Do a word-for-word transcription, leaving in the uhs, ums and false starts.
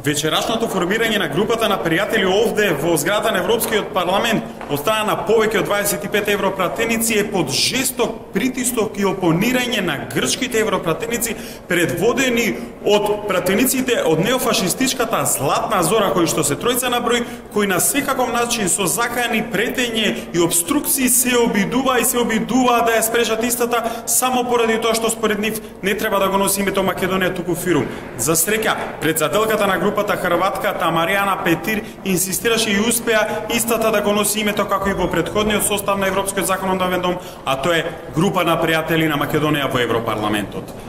Вечерашното формирање на групата на пријатели овде во зградата на Европскиот парламент од страна на повеќе од дваесет и пет европратеници е под жесток притисок и опонирање на грчките европратеници предводени од пратениците од неофашистичката Златна Зора, кои што се тројца на број, кои на секаков начин со закани, претење и обструкции се обидува и се обидува да ја спречат истата само поради тоа што според нив не треба да го носи името Македонија туку Фирум. За среќа, председателката на групата хрватката Маријана Петир инсистираше и успеа истата да го носи името како и во претходниот состав на Европскиот законодавен дом, а тоа е група на пријатели на Македонија во Европарламентот.